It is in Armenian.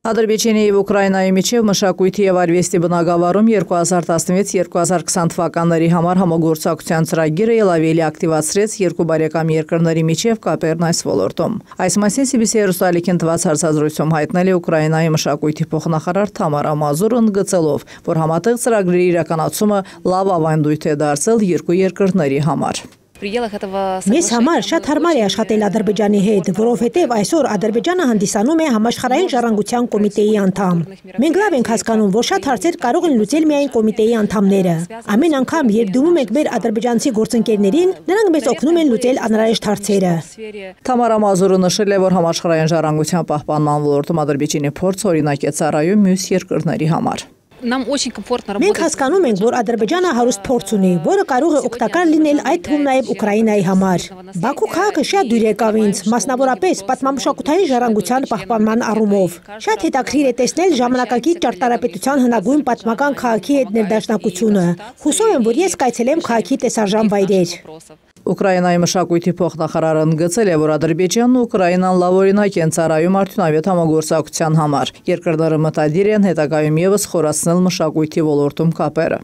Ադրբեջանի և Ուկրաինայի միջև մշակույթի և արվեստի բնագավառում 2016-2020 թվականների համար համագործակցության ծրագիրը ելավելի ակտիվացրեց երկու բարեկամ երկրների միջև կապերն այս ոլորտում։ Այս մասին CBC հեռուստաալիքին տված հարցազրույցում հայտնել է Ուկրաինայի մշակույթի փոխնախարար Թամարա Մազուրը, ընդգծելով, որ համատեղ ծրագրերի իրականացումը լավ ավանդույթ է դարձել երկու երկրների համար։ Մեզ համար շատ հարմար է աշխատել Ադրբեջանի հետ, որովհետև այսօր Ադրբեջանը հանդիսանում է համաշխարհային ժառանգության կոմիտեի անդամ։ Մենք լավ ենք հասկանում, որ շատ հարցեր կարող են լուծել միայն կոմիտեի անդամները։ Ամեն անգամ, երբ դիմում ենք մեր ադրբեջանցի գործընկերներին, նրանք մեզ օգնում են լուծել անհրաժեշտ հարցերը։ Թամարա Մազուրը նշել է, որ համաշխարհային ժառանգության պահպանման ոլորտում Ադրբեջանի փորձը օրինակ է ծառայում մյուս երկրների համար։ Մենք հասկանում ենք, որ Ադրբեջանը հարուստ փորձ ունի, որը կարող է օգտակար լինել այդ թվում նաև Ուկրաինայի համար։ Բաքու քաղաքը շատ դույր եկավ ինձ, մասնավորապես պատմամշակութային ժառանգության պահպանման առումով։ Շատ հետաքրքիր է տեսնել ժամանակակից ճարտարապետության հնագույն պատմական քաղաքի հետ ներդաշնակությունը։ Հուսով եմ, որ ես կայցելեմ քաղաքի տեսարժան վայրեր։ Ուկրաինայի մշակույթի փոխնախարարը ընդգծել է, որ Ադրբեջանն ու Ուկրաինան լավ օրինակ են ծառայում արդյունավետ համագործակցության համար։ Երկրները մտադիր են հետագայում ևս խորացնել մշակույթի ոլորտում կապերը։